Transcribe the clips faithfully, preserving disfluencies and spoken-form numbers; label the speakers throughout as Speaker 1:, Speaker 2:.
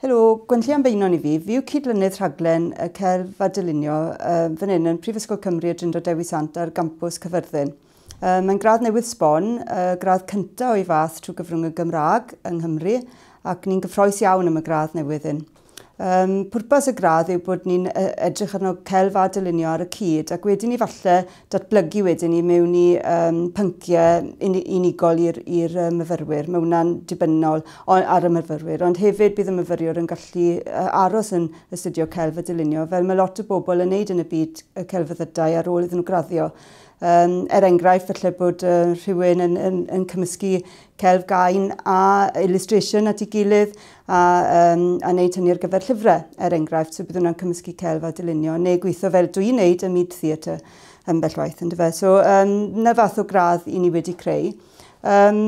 Speaker 1: Helo, Gwenllian Beynon i fi. Fi yw cydlynydd rhaglen y Celf a Dylunio uh, fan hyn yn Prifysgol Cymru y Drindod Dewi Sant ar gampws Caerfyrddin. Uh, Mae'n gradd newydd sbon, uh, gradd cyntaf o'i fath trwy gyfrwng y Gymraeg yng Nghymru, ac ni'n gyffrous iawn am y gradd newydd hyn. Um, pwrpas y gradd yw bod ni'n edrych arno celf a dylunio ar y cyd, ac wedyn ni falle datblygu wedyn ni mewn i um, pynciau unigol i'r myfyrwyr. Mae hwnna'n dibynnol ar y myfyrwyr, ond hefyd bydd y myfyriwr yn gallu aros yn astudio celf a dylunio, fel mae lot o bobl yn neud yn y byd y celfyddydau ar ôl iddyn nhw graddio. Um, er enghraifft, falle bod uh, rhywun yn, yn, yn cymysgu celf gain a illustration at ei gilydd a, um, a wneud hynny ar gyfer llyfrau, er enghraifft, so bydd hwnna'n cymysgu celf a dylunio, neu gweithio fel dwi'n wneud ym myd theatr ambell waith, yndyfe. So, um, 'na fath o gradd i ni wedi creu. Um,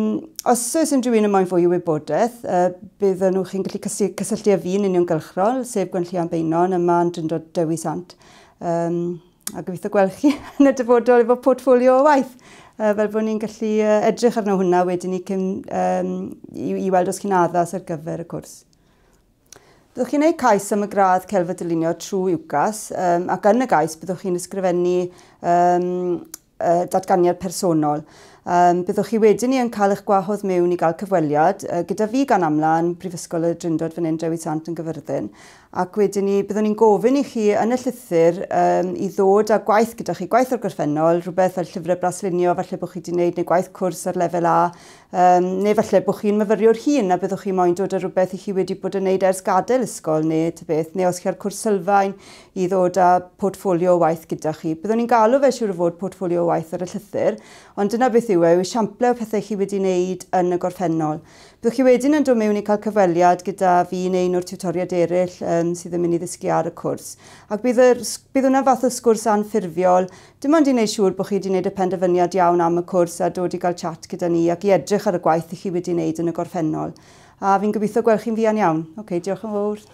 Speaker 1: os oes unrhyw un yn moyn fwy o wybodaeth, uh, bydden nhw chi'n gallu cysylltu â fi'n uniongyrchol, sef Gwenllian Beynon, yma yn Drindod Dewi Sant. Um, a gobeithio gweld chi yn y dyfodol efo portffolio o waith, uh, fel bod ni'n gallu uh, edrych arno hwnna wedyn ni cyn, um, i, i weld os chi'n addas ar gyfer y cwrs. Byddwch chi'n gwneud cais am y gradd Celf a Dylunio trwy UCAS, um, ac yn y gais byddwch chi'n ysgrifennu um, uh, datganiad personol. Um, byddwch chi wedyn ni yn cael eich gwahodd mewn i gael cyfweliad uh, gyda fi gan amla yn Prifysgol y Drindod fan hyn, Dewi Sant yn Gyfyrddin. Ac wedyn ni, byddwn ni'n gofyn i chi yn y llythyr um, i ddod â gwaith gyda chi, gwaith o'r gorffennol, rhywbeth fel llyfrau braslunio, falle bod chi wedi gwneud, neu gwaith cwrs ar lefel A, um, neu falle bod chi'n myfyriwr hŷn a byddwch chi moyn dod â rhywbeth i chi wedi bod yn gwneud ers gadael ysgol neu ta beth, neu os chi ar cwrs sylfaen i ddod â portffolio o waith gyda chi. Byddwn ni'n galw fe siŵr o fod portffolio o waith ar y llythyr, ond dyna beth yw e, yw esiample o pethau chi wedi wneud yn y gorffennol. Byddwch chi wedyn yn dod mewn i cael cyfweliad gyda fi neu un o'r tiwtoriaid eraill um, sydd yn mynd i ddysgu ar y cwrs. Ac bydd, yr, bydd hwnna fath o sgwrs anffurfiol, dim ond i wneud siŵr bod chi wedi wneud y penderfyniad iawn am y cwrs a dod i gael chat gyda ni ac i edrych ar y gwaith i chi wedi wneud yn y gorffennol. A fi'n gobeithio gweld chi'n fuan iawn. Ok, diolch yn fawr.